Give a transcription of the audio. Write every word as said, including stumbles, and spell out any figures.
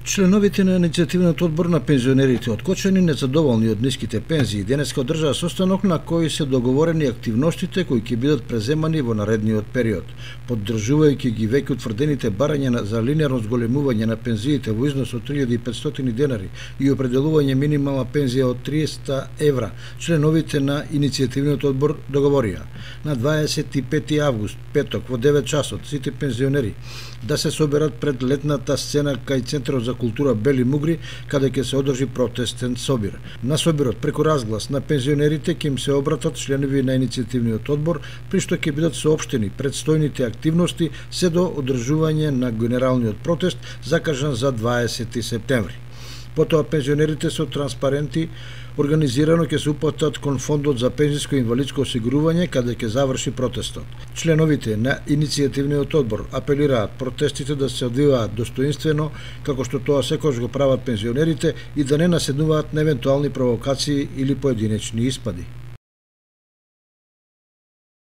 Членовите на иницијативниот одбор на пензионерите од Кочани, незадоволни од ниските пензии, денеска одржаа состанок на кој се договорени активностите кои ќе бидат преземани во наредниот период. Поддржувајќи ги веќе утврдените барања за линеарно зголемување на пензиите во износ од три илјади и петстотини денари и определување минимална пензија од триесет евра, членовите на иницијативниот одбор договорија на дваесет и пети август, петок, во девет часот, сите пензионери да се соберат пред летната сцена кај Центарот за култура Бели Мугри, каде ќе се одржи протестен собир. На собирот преку разглас на пензионерите ќе им се обратат членови на иницијативниот одбор, при што ќе бидат соопштени предстојните активности се до одржување на генералниот протест закажан за дваесети септември. Потоа пензионерите со транспаренти организирано ќе се упатат кон фондот за пензиско и инвалидско осигурување каде ќе заврши протестот. Членовите на иницијативниот одбор апелираат протестите да се одвиваат достоинствено, како што тоа секогаш го прават пензионерите, и да не наседнуваат на евентуални провокации или поединечни испади.